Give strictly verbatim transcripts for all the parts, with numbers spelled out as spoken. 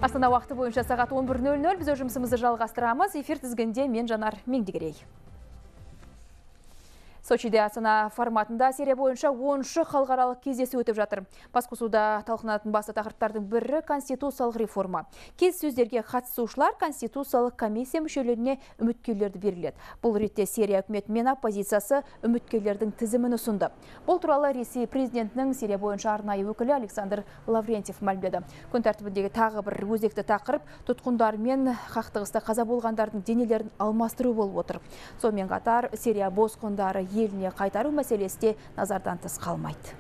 Астана уақыты бойынша сағат он бір нөл нөл біз жұмысымызды жалғастырамыз. Эфир тізгінде мен Жанар Меңдігерей. Сочиде Астана форматында серия бойынша оныншы халықаралық кездесу өтіп жатыр. Басқосуда талқыланатын басты тақырыптардың бірі конституциялық реформа. Келіссөздерге қатысушылар конституциялық комиссия мүшелеріне үміткерлерді беріледі. Бұл ретте Сирия үкіметі мен оппозициясы үміткерлердің тізімін ұсынды. Бұл туралы Ресей президентінің Сирия бойынша арнайы өкілі Александр Лаврентьев мәлімдеді. Күн тәртібіндегі тағы бір өзекті тақырып тұтқындар мен қақтығыста қаза болғандардың денелерін алмастыру болып отыр. Сонымен қатар Сирия босқындары еліне қайтару мәселесі де назардан тыс қалмайды.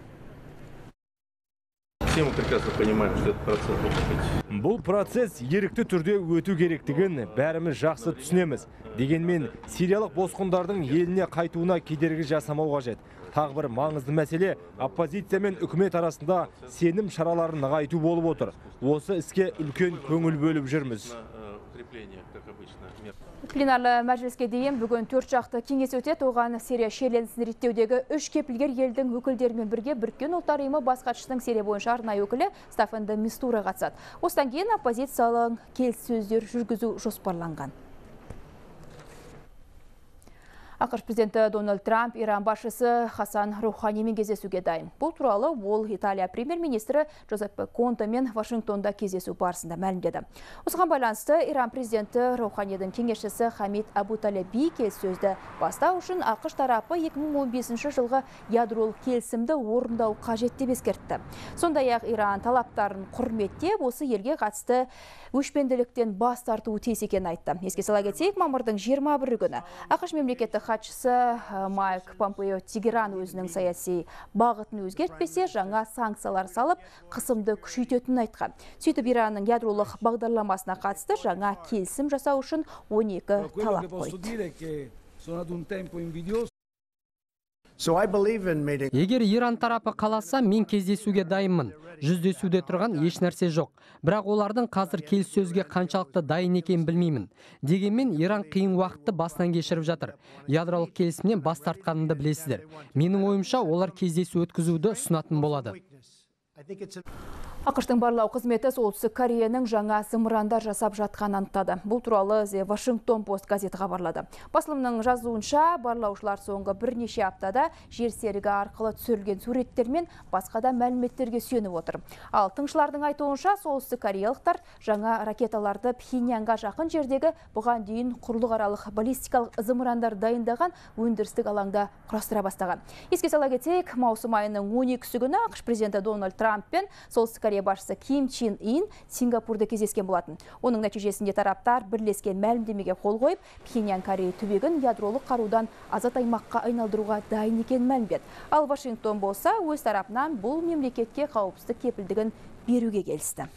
Все мы прекрасно понимаем, что этот процесс должен быть. Бұл процесс ерікті түрде өту керектігін бәріміз жақсы түсінеміз. Дегенмен сириялық босқындардың еліне қайтуына кедергі жасамау қажет. Тағы бір маңызды мәселе оппозиция мен үкімет арасында сенім шараларын нығайту болып отыр. Осы іске үлкен көңіл бөліп жүрміз. Пленарлы мәжіліске дейін бүгін төрт жақты кеңес өтеді. Оған Сирия шиеленісін реттеудегі үш кепілгер елдің өкілдерімен бірге Біріккен ұлттар ұйымы бас хатшысының Сирия бойынша арнайы өкілі Стаффан де Мистура қатысады. Осыдан кейін оппозициялық келіссөздер жүргізу жоспарланған. ақш президенті Дональд Трамп Иран басшысы Хасан Руханимен кездесуге дайын. Бұл туралы ол Италия премьер-министрі Джозеппе Контемен Вашингтонда кездесу барысында мәлімдеді. Осыған байланысты Иран президенті Руханидің кеңесшісі Хамид Абу-Талеби келіссөзді бастау үшін ақш тарапы екі мың он бесінші жылғы ядролық келісімді орындау қажет деп ескертті. Сондай-ақ Иран талаптарын құрметтеп, осы елге қатысты өшпенділіктен бас тартуы тиіс екенін айтты. Еске сала кетейік, мамырдың жиырма бірі күні ақш мемлекеттік хатшысы Майк Помпео Тегеран өзінің саяси бағытын өзгертпесе, жаңа санкциялар салып, қысымды күшейтетінін айтқан. Сөйтіп Иранның ядролық бағдарламасына қатысты жаңа келісім жасау үшін он екі талап қойды. Егер Иран тарапы қаласа, мен кездесуге дайынмын. Жүздесуде тұрған еш нәрсе жоқ. Бірақ олардың қазір келіссөзге қаншалықты дайын екенін білмеймін. Дегенмен Иран қиын уақытты бастан кешіріп жатыр. Ядролық келісімнен бас тартқанымды білесіздер. Менің ойымша, олар кездесу өткізуді ұсынатын болады. ақш-тың барлау қызметі Солтүстік Кореяның жаңа зымырандар жасап жатқанын анықтады. Бұл туралы The Washington Post газеті хабарлады. Басылымның жазуынша, барлаушылар соңғы бірнеше аптада жер серігі арқылы түсірілген суреттер мен басқа да мәліметтерге сүйеніп отыр. Ал тыңшылардың айтуынша, Солтүстік Кореялықтар жаңа ракеталарды Пхеньянға жақын жердегі бұған дейін құрлықаралық баллистикалық зымырандар дайындаған өндірістік алаңда құрастыра бастаған. Еске сала кетейік, маусым айының он екісі күні ақш президенті Дональд Трамп пен Солтүстік Корея басшысы Ким Чен Ин Сингапурда кездескен болатын. Оның нәтижесінде тараптар бірлескен мәлімдемеге қол қойып, Пхеньян Корея түбегін ядролық қарудан азат аймаққа айналдыруға дайын екенін мәлімдеді. Ал Вашингтон болса, өз тарапынан бұл мемлекетке қауіпсіздік кепілдігін беруге келісті.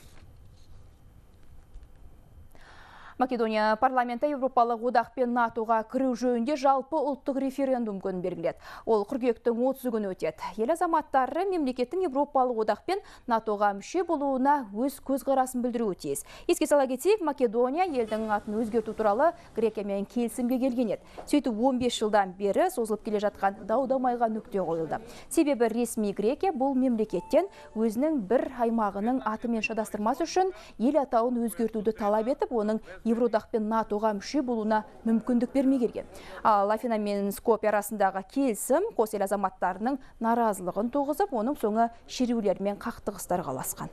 Македония парламенті Европалық одақ пен натоға кіру жөнінде жалпы ұлттық референдум күнін белгіледі. Ол қыркүйектің отызы күні өтеді. Ел азаматтары мемлекеттің Европалық одақ пен натоға мүше болуына өз көзқарасын білдіруі тиіс. Еске сала кетейік, Македония елдің атын өзгерту туралы Грекиямен келісімге келген еді. Сөйтіп он бес жылдан бері созылып келе жатқан дау-дамайға нүкте қойылды. Себебі ресми Грекия бұл мемлекеттен өзінің бір аймағының атымен шатастырмас үшін ел атауын өзгертуді талап етіп, оның Евродақ пен натоға мүше болуына мүмкіндік бермей келген. Ал Афина мен Скопье арасындағы келісім қос ел азаматтарының наразылығын туғызып, оның соңы шерулер мен қақтығыстарға ұласқан.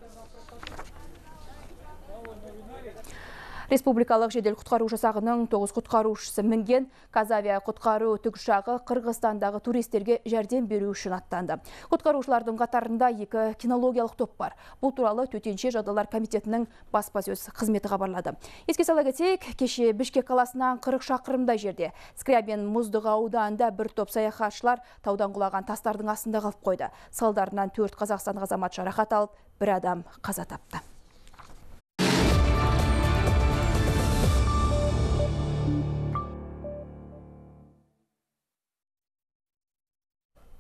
Республикалық жедел құтқару жасағының тоғыз құтқарушысы мінген Казавия құтқару тікұшағы Қырғызстандағы туристерге жәрдем беру үшін аттанды. Құтқарушылардың қатарында екі кинологиялық топ бар. Бұл туралы төтенше жағдайлар комитетінің баспасөз қызметі хабарлады. Еске сала кетейік, кеше Бішкек қаласынан қырық шақырымдай жерде Скрябин мұздық ауданында бір топ саяхатшылар таудан құлаған тастардың астында қалып қойды. Салдарынан төрт Қазақстан азамат жарақат алып, бір адам қаза тапты.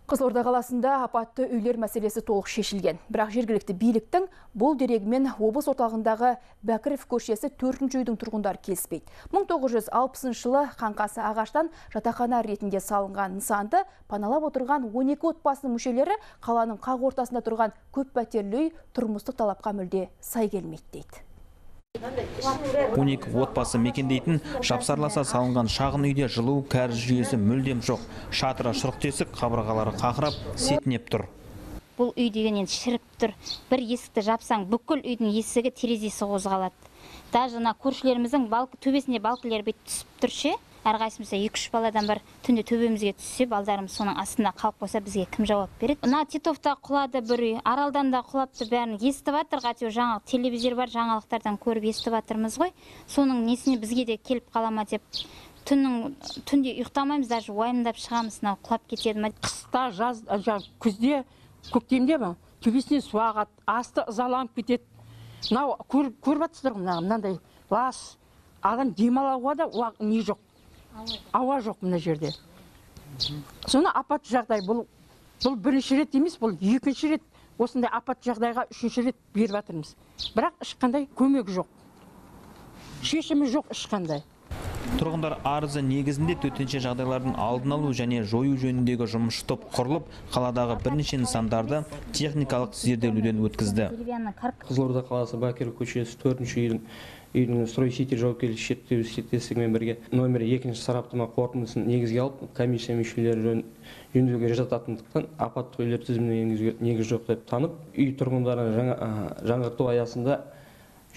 Қызылорда қаласында апатты үйлер мәселесі толық шешілген. Бірақ жергілікті биліктің бұл дерегімен облыс орталығындағы Бәкіров көшесі төртінші үйдің тұрғындары келіспейді. мың тоғыз жүз алпысыншы жылы қаңқасы ағаштан жатақхана ретінде салынған нысанды паналап отырған он екі отбасының мүшелері қаланың қақ ортасында тұрған көп пәтерлі үй тұрмыстық талапқа мүлде сай келмейді дейді. он екі отбасы мекендейтін жапсарласа салынған шағын үйде жылу кәріз жүйесі мүлдем жоқ. Шатыры шұрық тесік, қабырғалары қақырап, сетінеп тұр. Бұл үй деген енді шіріп тұр. Бір есікті жапсаң, бүкіл үйдің есігі терезесі қозғалады. Даже мына көршілеріміздің төбесінде балкілер бет түсіп тұр ше. Әрқайсымыз екі үш баладан бір түнде төбемізге түссе, балдарымыз соның астында қалып қойса, бізге кім жауап береді? Мына Титовта құлады бір үй, Аралдан да құлапты, бәрін естіп жатыр, ғатеу жаңа телевизор бар, жаңалықтардан көріп естіп жатырмыз ғой. Соның несіне бізге де келіп қалама деп түннің түнде ұйықтамаймыз, даже уайымдап шығамыз, мынау құлап кетеді ме? Қыста, жаз, күзде, көктемде ме? Төбесінен су ағады, асты ызаланып кетеді. Мынау көріп жатсыздар ғой, мынандай лас, адам демалуға да не жоқ. Ауа жоқ мына жерде. Соны апат жағдай, бұл бұл бірінші рет емес, бұл екінші рет осындай апат жағдайға үшінші рет беріп жатырмыз. Бірақ ешқандай көмек жоқ. Шешімі жоқ ешқандай. Тұрғындар арызы негізінде төтенше жағдайлардың алдын алу және жою жөніндегі жұмыс топ құрылып, қаладағы бірнеше нысандарды техникалық зерделеуден өткізді. Қызылорда қаласы Бакир көшесі төртінші үйдің үйдің стройсетер жауапкершілігі шектеулі серіктестігімен бірге номер екінші сараптама қорытындысын негізге алып, комиссия мүшелері жөндеуге жататындықтан апаттық үйлер тізіміне енгізуге негіз жоқ деп танып, үй тұрғындарын жаңғырту аясында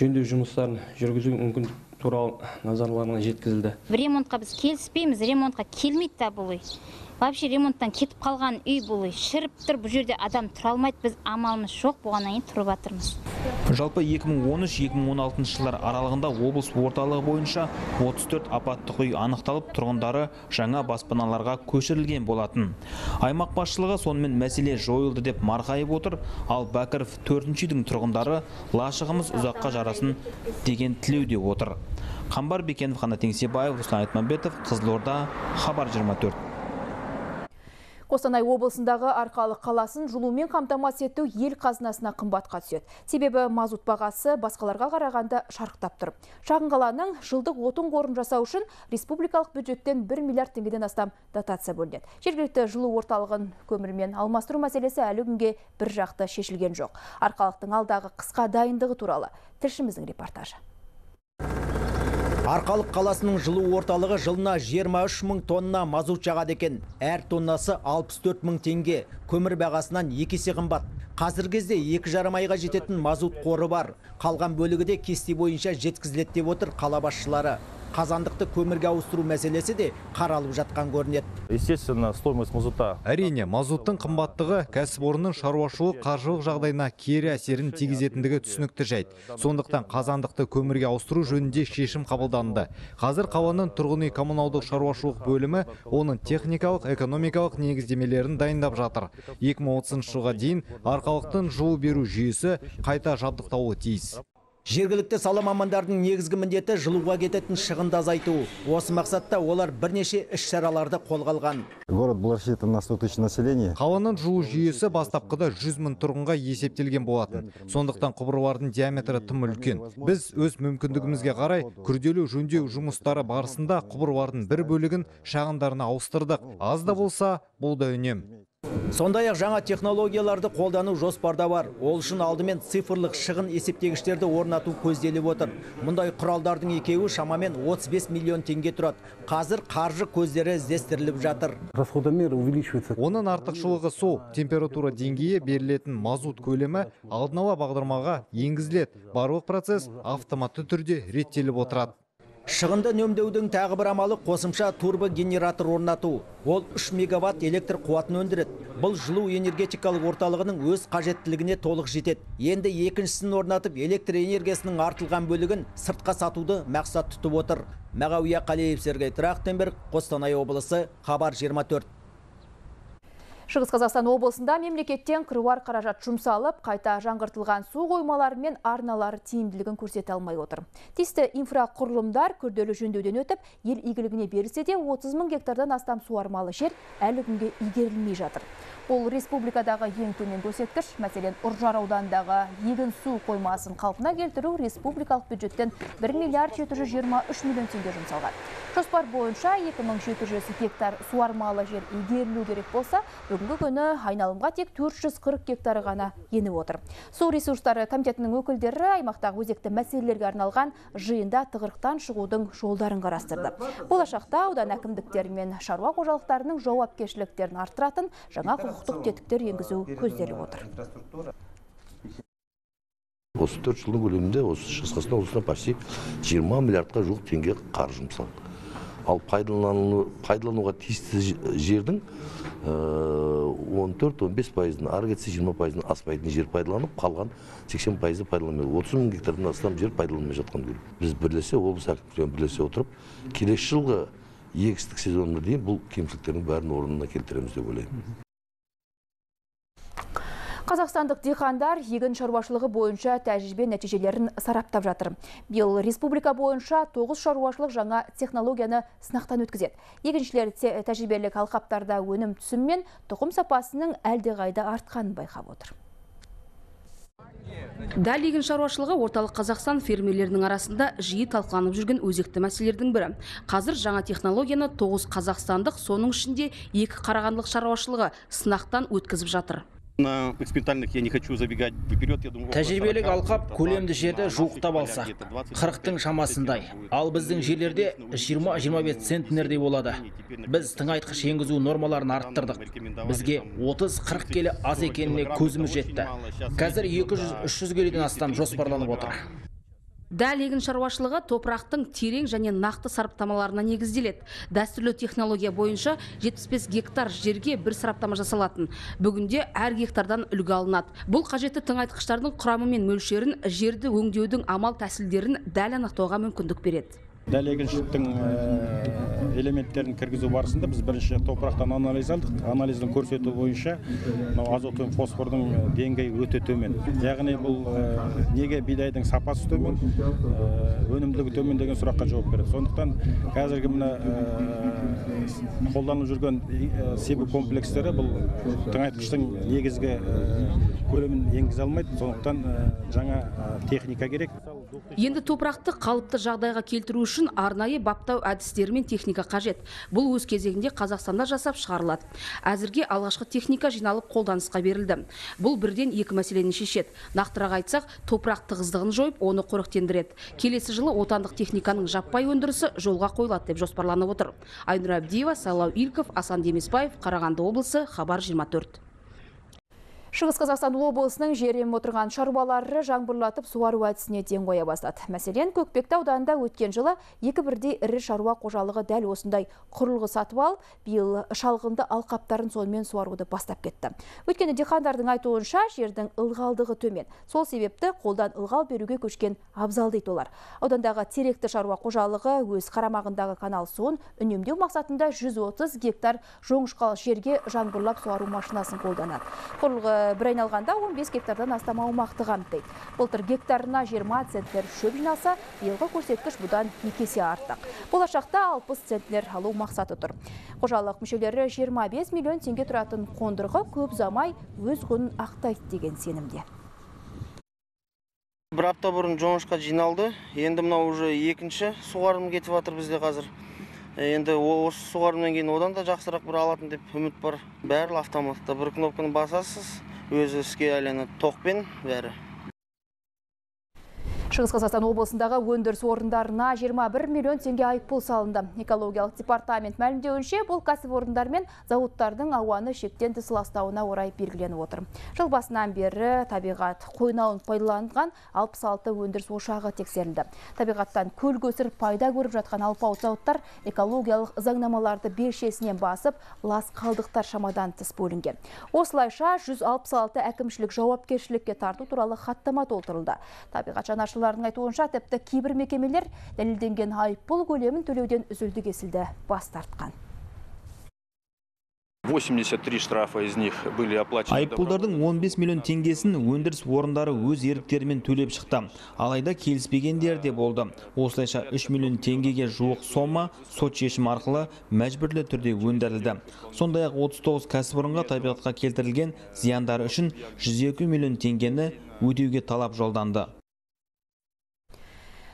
жөндеу жұмыстарын жүргізу мүмкіндік туралы назарларына жеткізілді. Ремонтқа біз келіспейміз, ремонтқа келмейді да бұл үй. Вообще ремонттан кетіп қалған үй бұл үй. Шіріп тұр, бұл жерде адам тұра алмайды, біз амалымыз жоқ, бұған дейін тұрып жатырмыз. Жалпы екі мың он үш екі мың он алтыншы жылдар аралығында облыс орталығы бойынша отыз төрт апаттық үй анықталып, тұрғындары жаңа баспаналарға көшірілген болатын. Аймақ басшылығы сонымен мәселе жойылды деп марқайып отыр, ал Бәкіров төртінші үйдің тұрғындары лашығымыз ұзаққа жарасын деген тілеуде отыр. Қамбар Бекенов, Қанат Еңсебаев, Руслан Айтмамбетов, Қызылорда, Хабар жиырма төрт. Қостанай облысындағы Арқалық қаласын жылумен қамтамасыз ету ел қазынасына қымбатқа түседі. Себебі мазут бағасы басқаларға қарағанда шарықтап тұр. Шағын қаланың жылдық отын қорын жасау үшін республикалық бюджеттен бір миллиард теңгеден астам дотация бөлінеді. Жергілікті жылу орталығын көмірмен алмастыру мәселесі әлі күнге бір жақты шешілген жоқ. Арқалықтың алдағы қысқа дайындығы туралы тілшіміздің репортажы. Арқалық қаласының жылу орталығы жылына жиырма үш мың тонна мазут жағады екен. Әр тоннасы алпыс төрт мың теңге. Көмір бағасынан екі есе қымбат. Қазіргі кезде екі жарым айға жететін мазут қоры бар. Қалған бөлігі де кесте бойынша жеткізіледі деп отыр қала басшылары. Қазандықты көмірге ауыстыру мәселесі де қаралып жатқан көрінеді. Естественно, стоимость мазута. Әрине, мазуттың қымбаттығы кәсіпорынның шаруашылық қаржылық жағдайына кері әсерін тигізетіндігі түсінікті жайт. Сондықтан қазандықты көмірге ауыстыру жөнінде шешім қабылданды. Қазір қаланың тұрғын үй коммуналдық шаруашылық бөлімі оның техникалық, экономикалық негіздемелерін дайындап жатыр. екі мың отызыншы жылға дейін Арқалықтың жылу беру жүйесі қайта жабдықталуы тиіс. Жергілікті сала мамандардың негізгі міндеті жылуға кететін шығынды азайту. Осы мақсатта олар бірнеше іс-шараларды қолға алған. Город был рассчитан на сто тысяч населения. Қаланың жылу жүйесі бастапқыда жүз мың тұрғынға есептелген болатын. Сондықтан құбырлардың диаметрі тым үлкен. Біз өз мүмкіндігімізге қарай күрделі жөндеу жұмыстары барысында құбырлардың бір бөлігін шағындарына ауыстырдық. Аз да болса, бұл да үнем. Сондай-ақ жаңа технологияларды қолдану жоспарда бар. Ол үшін алдымен цифрлық шығын есептегіштерді орнату көзделіп отыр. Мұндай құралдардың екеуі шамамен отыз бес миллион теңге тұрады. Қазір қаржы көздері іздестіріліп жатыр. Оның артықшылығы сол, температура деңгейі берілетін мазут көлемі алдын ала бағдарламаға енгізіледі. Барлық процесс автоматты түрде реттеліп отырады. Шығынды үнемдеудің тағы бір амалы қосымша турбогенератор орнату. Ол үш мегаватт электр қуатын өндіреді. Бұл жылу энергетикалық орталығының өз қажеттілігіне толық жетеді. Енді екіншісін орнатып, электр энергиясының артылған бөлігін сыртқа сатуды мақсат тұтып отыр. Мағауия Қалиев, Сергей Трахтенберг, Қостанай облысы, Хабар жиырма төрт. Шығыс Қазақстан облысында мемлекеттен қыруар қаражат жұмсалып, қайта жаңғыртылған су қоймалары мен арналары тиімділігін көрсете алмай отыр. Тиісті инфрақұрылымдар күрделі жөндеуден өтіп, ел игілігіне берілсе де отыз мың гектардан астам суармалы жер әлі күнге игерілмей жатыр. Бұл республикадағы ең төмен көрсеткіш. Мәселен, Үржар ауданындағы егін су қоймасын қалпына келтіру республикалық бюджеттен бір миллиард жеті жүз жиырма үш миллион теңге жұмсалған. Жоспар бойынша екі мың жеті жүз гектар суармалы жер игерілу керек болса, бүгінгі күні айналымға тек төрт жүз қырық гектары ғана еніп отыр. Су ресурстары комитетінің өкілдері аймақтағы өзекті мәселелерге арналған жиында тығырықтан шығудың жолдарын қарастырды. Болашақта аудан әкімдіктері мен шаруа қожалықтарының жауапкершіліктерін арттыратын жаңа құқықтық тетіктер енгізу көзделіп отыр. Осы төрт жылдың көлемінде осы Шығыс Қазақстан облысына почти жиырма миллиардқа жуық теңге қаржы жұмсалды. Ал пайдалануға тиісті жердің он төрт он бес пайызын, ары кетсе жиырма пайызын аспайтын жер пайдаланып, қалған сексен пайызы пайдаланмайды. отыз мың гектардан астам жер пайдаланмай жатқан көрінеді. Біз бірлесе, облыс әкімдерімен бірлесе отырып, келесі жылғы егістік сезонына дейін бұл кемшіліктердің бәрін орнына келтіреміз деп ойлаймын. Қазақстандық диқандар егін шаруашылығы бойынша тәжірибе нәтижелерін сараптап жатыр. Биыл республика бойынша тоғыз шаруашылық жаңа технологияны сынақтан өткізеді. Егіншілер тәжірибелік алқаптарда өнім түсімі мен тұқым сапасының әлдеқайда артқанын байқап отыр. Дәл егін шаруашылығы орталық Қазақстан фермерлерінің арасында жиі талқыланып жүрген өзекті мәселелердің бірі. Қазір жаңа технологияны тоғыз қазақстандық, соның ішінде екі қарағандылық шаруашылығы сынақтан өткізіп жатыр. Тәжірибелік алқап көлемді жерді жуықтап алса, қырықтың шамасындай. Ал біздің жерлерде жиырма жиырма бес центнердей болады. Біз тыңайтқыш енгізу нормаларын арттырдық. Бізге отыз қырық келі аз екеніне көзіміз жетті. Қазір екі жүз үш жүз келіден астам жоспарланып отыр. Дәл егін шаруашылығы топырақтың терең және нақты сараптамаларына негізделеді. Дәстүрлі технология бойынша жетпіс бес гектар жерге бір сараптама жасалатын. Бүгінде әр гектардан үлгі алынады. Бұл қажетті тыңайтқыштардың құрамы мен мөлшерін, жерді өңдеудің амал тәсілдерін дәл анықтауға мүмкіндік береді. Дәл егіншіліктің элементтерін кіргізу барысында біз бірінші топырақтан анализ алдық. Анализдің көрсетуі бойынша азот пен фосфордың деңгейі өте төмен. Яғни бұл неге бидайдың сапасы төмен, өнімділігі төмен деген сұраққа жауап береді. Сондықтан қазіргі мына қолданылып жүрген себу комплекстері бұл тыңайтқыштың негізгі көлемін енгізе алмайды. Сондықтан жаңа техника керек. Енді топырақты қалыпты жағдайға келтіру үшін арнайы баптау әдістері мен техника қажет. Бұл өз кезегінде Қазақстанда жасап шығарылады. Әзірге алғашқы техника жиналып қолданысқа берілді. Бұл бірден екі мәселені шешеді. Нақтырақ айтсақ, топырақ тығыздығын жойып, оны қоректендіреді. Келесі жылы отандық техниканың жаппай өндірісі жолға қойылады деп жоспарланып отыр. Айнұр Әбдиева, Сайлау Ильков, Асан Демесбаев, Қарағанды облысы, Хабар жиырма төрт. Шығыс Қазақстан облысының жерем отырған шаруалары жаңбырлатып суару әдісіне ден қоя бастады. Мәселен, Көкпекті ауданында өткен жылы екі бірдей ірі шаруа қожалығы дәл осындай құрылғы сатып алып, биыл шалғынды алқаптарын сонымен суаруды бастап кетті. Өйткені диқандардың айтуынша жердің ылғалдығы төмен. Сол себепті қолдан ылғал беруге көшкен абзал дейді олар. Аудандағы теректі шаруа қожалығы өз қарамағындағы канал суын үнемдеу мақсатында жүз отыз гектар жоңышқал жерге жаңбырлап суару машинасын қолданады. Құрылғы бір айналғанда он бес гектардан астам аумақты қамтиды. Былтыр гектарына жиырма центнер шөп жиналса, биылғы көрсеткіш бұдан екі есе артық. Болашақта алпыс центнер алу мақсаты тұр. Қожалық мүшелері жиырма бес миллион теңге тұратын қондырғы көп замай өз құнын ақтайды деген сенімде. Бір апта бұрын жоңышқа жиналды. Енді мына уже екінші суғарым кетіп жатыр бізде қазір. Енді осы суғарымнан кейін одан да жақсырақ бір алатын деп үміт бар. Бәрі автоматта. Бір кнопканы басасыз, өзі іске айналады. Тоқпен бәрі. Шығыс Қазақстан облысындағы өндіріс орындарына жиырма бір миллион теңге айыппұл салынды. Экологиялық департамент мәлімдеуінше бұл кәсіпорындар мен зауыттардың ауаны шектен тыс ластауына орай белгіленіп отыр. Жыл басынан бері табиғат қойнауын пайдаланған алпыс алты өндіріс ошағы тексерілді. Табиғаттан көл көсір пайда көріп жатқан алпауыт зауыттар экологиялық заңнамаларды белшесінен басып, лас қалдықтар шамадан тыс бөлінген. Осылайша жүз алпыс алты әкімшілік жауапкершілікке тарту туралы хаттама толтырылды. Табиғат жанашырларының айтуынша тіпті кейбір мекемелер дәлелденген айыппұл көлемін төлеуден үзілді кесілді бас тартқан. восемьдесят три штрафа из них были оплачены. Айыппұлдардың он бес миллион теңгесін өндіріс орындары өз еріктерімен төлеп шықты. Алайда келіспегендер де болды. Осылайша үш миллион теңгеге жуық сома сот шешімі арқылы мәжбүрлі түрде өндірілді. Сондай-ақ отыз тоғыз кәсіпорынға табиғатқа келтірілген зияндары үшін жүз екі миллион теңгені өтеуге талап жолданды.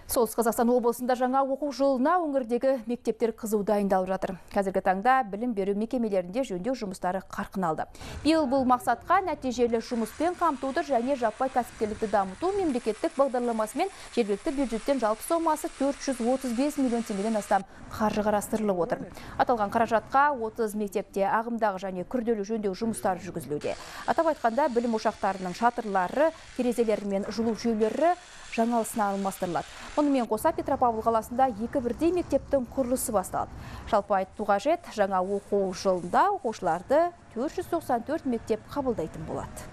Солтүстік Қазақстан облысында жаңа оқу жылына өңірдегі мектептер қызу дайындалып жатыр. Қазіргі таңда білім беру мекемелерінде жөндеу жұмыстары қарқын алды. Биыл бұл мақсатқа нәтижелі жұмыспен қамтуды және жаппай кәсіпкерлікті дамыту мемлекеттік бағдарламасымен жергілікті бюджеттен жалпы сомасы төрт жүз отыз бес миллион теңгеден астам қаржы қарастырылып отыр. Аталған қаражатқа отыз мектепте ағымдағы және күрделі жөндеу жұмыстары жүргізілуде. Атап айтқанда білім ошақтарының шатырлары, терезелері мен жылу жүйелері жаңалысына алмастырылады. Мұнымен қоса Петропавл қаласында екі бірдей мектептің құрылысы басталды. Жалпы айту қажет, жаңа оқу жылында оқушыларды төрт жүз тоқсан төрт мектеп қабылдайтын болады.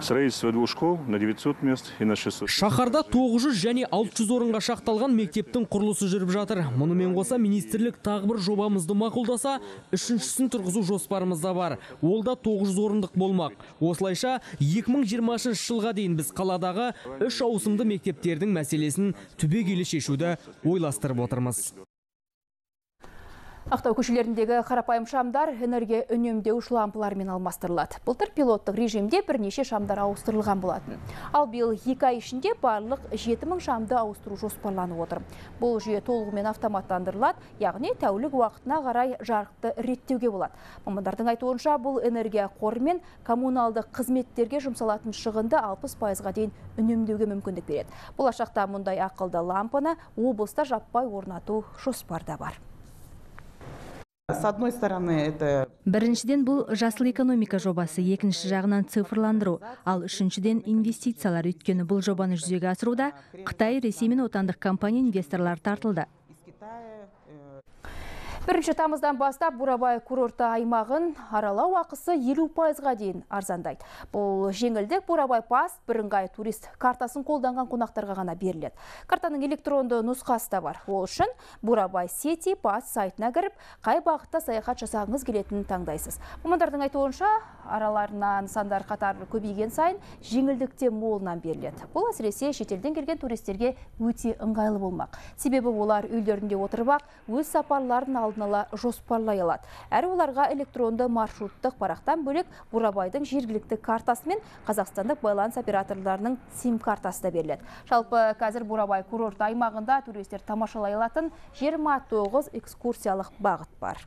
Строительство двух школ на девятьсот мест и на шестьсот. Шаһарда тоғыз жүз және алты жүз орынға шақталған мектептің құрылысы жүріп жатыр. Мұнымен қоса министрлік тағы бір жобамызды мақұлдаса, үшіншісін тұрғызу жоспарымызда бар. Ол да тоғыз жүз орындық болмақ. Осылайша екі мың жиырмасыншы жылға дейін біз қаладағы үш ауысымды мектептердің мәселесін түбегейлі шешуді ойластырып отырмыз. Ақтау көшелеріндегі қарапайым шамдар энергия үнемдеуіш лампылармен алмастырылады. Былтыр пилоттық режимде бірнеше шамдар ауыстырылған болатын. Ал биыл екі ай ішінде барлық жеті мың шамды ауыстыру жоспарланып отыр. Бұл жүйе толығымен автоматтандырылады, яғни тәулік уақытына қарай жарықты реттеуге болады. Мамандардың айтуынша бұл энергия қоры мен коммуналдық қызметтерге жұмсалатын шығынды алпыс пайызға дейін үнемдеуге мүмкіндік береді. Болашақта мұндай ақылды лампаны облыста жаппай орнату жоспарда бар. С одной стороны, это... Біріншіден бұл жасыл экономика жобасы, екінші жағынан цифрландыру, ал үшіншіден инвестициялар, өйткені бұл жобаны жүзеге асыруда Қытай, Ресей мен отандық компания инвесторлар тартылды. Бірінші тамыздан бастап Бурабай курорты аймағын аралау ақысы елу пайызға дейін арзандайды. Бұл жеңілдік Бурабай пас бірыңғай турист картасын қолданған қонақтарға ғана беріледі. Картаның электронды нұсқасы да бар. Ол үшін Бурабай Сети пас сайтына кіріп, қай бағытта саяхат жасағыңыз келетінін таңдайсыз. Мамандардың айтуынша, араларынан нысандар қатары көбейген сайын жеңілдікте молынан беріледі. Бұл әсіресе шетелден келген туристерге өте ыңғайлы болмақ. Себебі олар үйлерінде отырып-ақ өз сапарларын алдын ала жоспарлай алады. Әрі оларға электронды маршруттық парақтан бөлек Бурабайдың жергілікті картасы мен қазақстандық байланыс операторларының сим картасы да беріледі. Жалпы қазір Бурабай курорт аймағында туристер тамашалай алатын жиырма тоғыз экскурсиялық бағыт бар.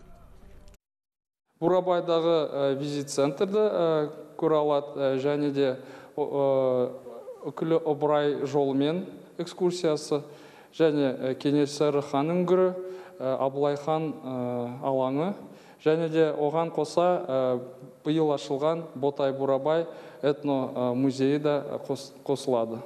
Бурабайдағы визит центрді көре алады, және де үкілі ыбырай жолымен экскурсиясы, және Кенесары хан үңгірі, Абылай хан алаңы, және де оған қоса биыл ашылған Ботай Бурабай этно музейі де қосылады.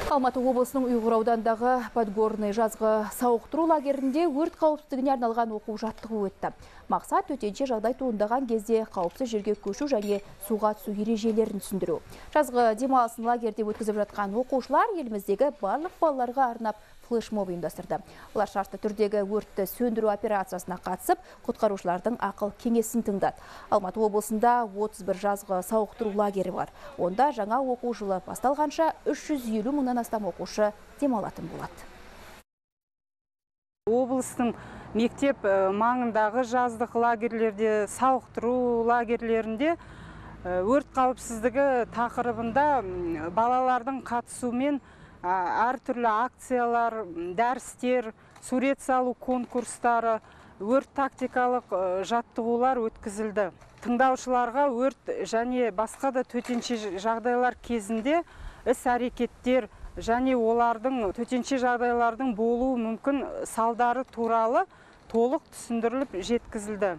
Алматы облысының Ұйғыр аудандағы Подгорный жазғы сауықтыру лагерінде өрт қауіпсіздігіне арналған оқу жаттығу өтті. Мақсат төтенше жағдай туындаған кезде қауіпсіз жерге көшу және суға түсу ережелерін түсіндіру. Жазғы демалысын лагерде өткізіп жатқан оқушылар еліміздегі барлық балаларға арнап флешмоб ұйымдастырды. Олар шартты түрдегі өртті сөндіру операциясына қатысып, құтқарушылардың ақыл кеңесін тыңдады. Алматы облысында отыз бір жазғы сауықтыру лагері бар. Онда жаңа оқу жылы басталғанша үш жүз елу мыңнан астам оқушы демалатын болады. Облыстың мектеп маңындағы жаздық лагерлерде, сауықтыру лагерлерінде өрт қауіпсіздігі тақырыбында балалардың қатысуымен әртүрлі акциялар, дәрістер, сурет салу конкурстары, өрт тактикалық жаттығулар өткізілді. Тыңдаушыларға өрт және басқа да төтенше жағдайлар кезінде іс-әрекеттер және олардың төтенше жағдайлардың болуы мүмкін салдары туралы толық түсіндіріліп жеткізілді.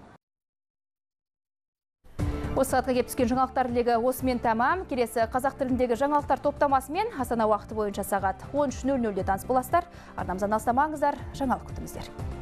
Осы сағатқа кеп түскен жаңалықтар легі осымен тәмам. Келесі қазақ тіліндегі жаңалықтар топтамасымен Астана уақыты бойынша сағат он үш нөл нөлде таныс боласыздар. Арнамыздан алыстамаңыздар, жаңалық күтіңіздер.